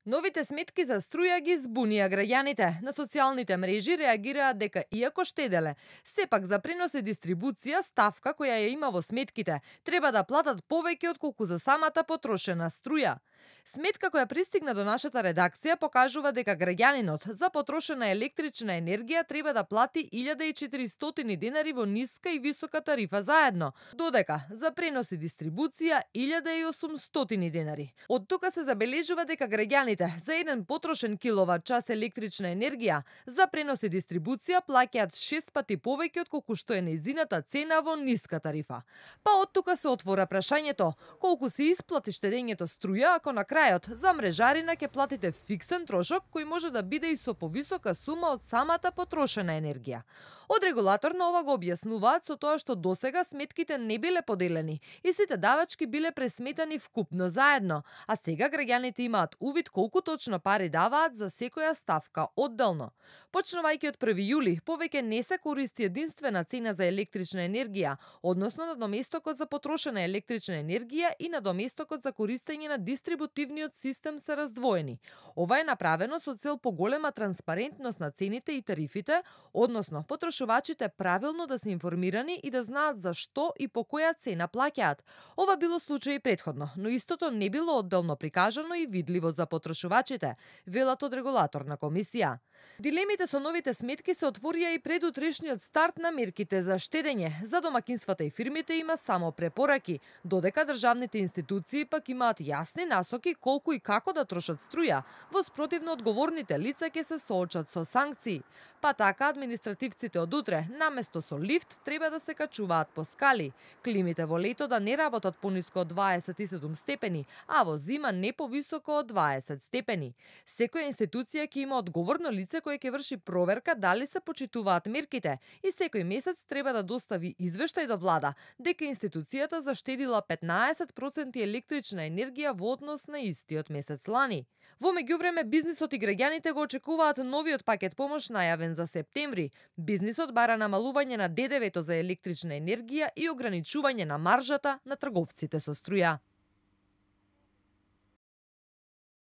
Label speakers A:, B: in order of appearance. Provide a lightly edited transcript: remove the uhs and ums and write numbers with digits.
A: Новите сметки за струја ги збунија граѓаните. На социјалните мрежи реагираат дека иако штеделе, сепак за пренос и дистрибуција ставка која ја има во сметките треба да платат повеќе отколку за самата потрошена струја. Сметка која пристигна до нашата редакција покажува дека граѓанинот за потрошена електрична енергија треба да плати 1400 денари во ниска и висока тарифа заедно, додека за пренос и дистрибуција 1800 денари. Од тука се забележува дека граѓаните за еден потрошен киловат час електрична енергија за пренос и дистрибуција плаќаат 6 пати повеќе отколку што е нејзината цена во ниска тарифа. Па од тука се отвора прашањето колку се исплати штедењето струја ако на крајот за мрежарина ќе платите фиксен трошок кој може да биде и со повисока сума од самата потрошена енергија. Од регулатор на ова го објаснуваат со тоа што досега сметките не биле поделени и сите давачки биле пресметани вкупно заедно, а сега граѓаните имаат увид колку точно пари даваат за секоја ставка одделно. Почнувајќи од 1 јули, повеќе не се користи единствена цена за електрична енергија, односно надоместокот за потрошена електрична енергија и надоместокот за користење на дистрибутивниот систем се раздвоени. Ова е направено со цел поголема транспарентност на цените и тарифите, односно потрошувачите правилно да се информирани и да знаат за што и по која цена плаќаат. Ова било случај и претходно, но истото не било одделно прикажано и видливо за потрошувачите, велат од регулаторна комисија. Дилемите со новите сметки се отворија и пред утрешниот старт на мерките за штедење. За домакинствата и фирмите има само препораки, додека државните институции пак имаат јасни насоки колку и како да трошат струја. Во спротивно одговорните лица ќе се соочат со санкции. Па така административците од утре, наместо со лифт, треба да се качуваат по скали. Климите во лето да не работат пониско од 27 степени, а во зима не повисоко од 20 степени. Секоја институција ќе има одговорно лице кое ќе врши проверка дали се почитуваат мерките и секој месец треба да достави извештај до влада дека институцијата заштедила 15% електрична енергија во однос на истиот месец лани. Во меѓувреме бизнисот и граѓаните го очекуваат новиот пакет помош најавен за септември. Бизнисот бара намалување на ДДВ-то за електрична енергија и ограничување на маржата на трговците со струја.